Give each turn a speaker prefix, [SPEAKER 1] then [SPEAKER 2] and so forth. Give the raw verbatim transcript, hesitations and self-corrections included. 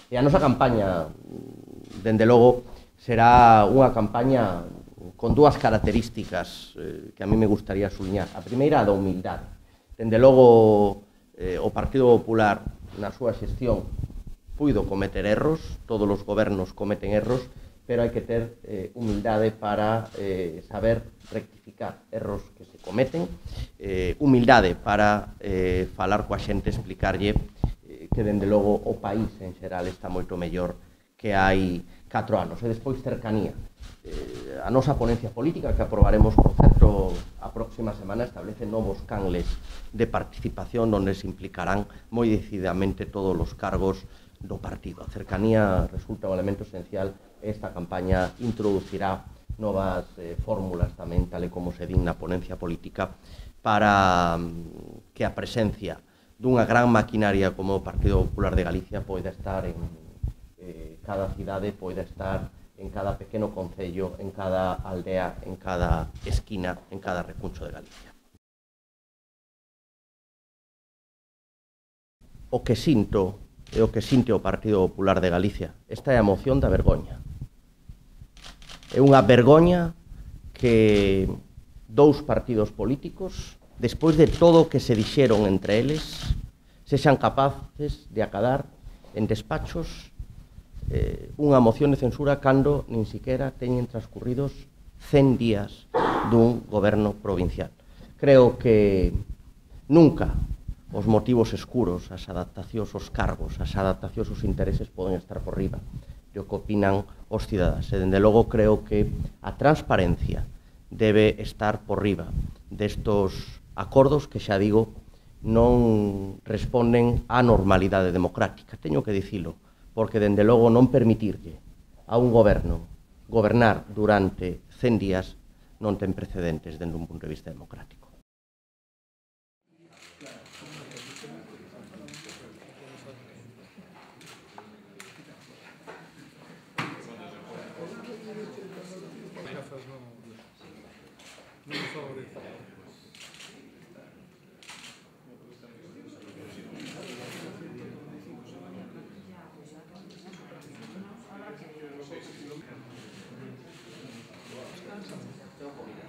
[SPEAKER 1] E a nosa campaña, dende logo, será unha campaña con dúas características eh, que a mí me gustaría subliñar. A primeira, a da humildade. Dende logo, eh, o Partido Popular, na súa xestión, puido cometer erros, todos os gobernos cometen erros, pero hai que ter eh, humildade para eh, saber rectificar erros que se cometen, eh, humildade para eh, falar coa xente, explicarlle que, dende logo, o país en xeral está moito mellor que hai catro anos. E despois, cercanía. Eh, a nosa ponencia política, que aprobaremos, por certo, a próxima semana, establece novos canles de participación onde se implicarán moi decididamente todos os cargos do partido. A cercanía resulta un elemento esencial e esta campaña introducirá novas eh, fórmulas tamén, tal e como se din na ponencia política, para que a presencia dunha gran maquinaria como o Partido Popular de Galicia poida estar en eh, cada cidade, poida estar en cada pequeno concello, en cada aldea, en cada esquina, en cada recuncho de Galicia. O que sinto e o que sinte o Partido Popular de Galicia, esta é a moción da vergoña. É unha vergoña que dous partidos políticos, despois de todo o que se dixeron entre eles, sexan capaces de acadar en despachos eh, unha moción de censura cando nin siquiera teñen transcurridos cen días dun goberno provincial. Creo que nunca os motivos escuros, as adaptacións aos cargos, as adaptacións aos intereses poden estar por riba do que opinan os cidadáns. E, dende logo, creo que a transparencia debe estar por riba destos acordos que, xa digo, non responden á normalidade democrática. Teño que dicilo, porque, dende logo, non permitirlle a un goberno gobernar durante cen días non ten precedentes dende un punto de vista democrático.
[SPEAKER 2] Tengo comida.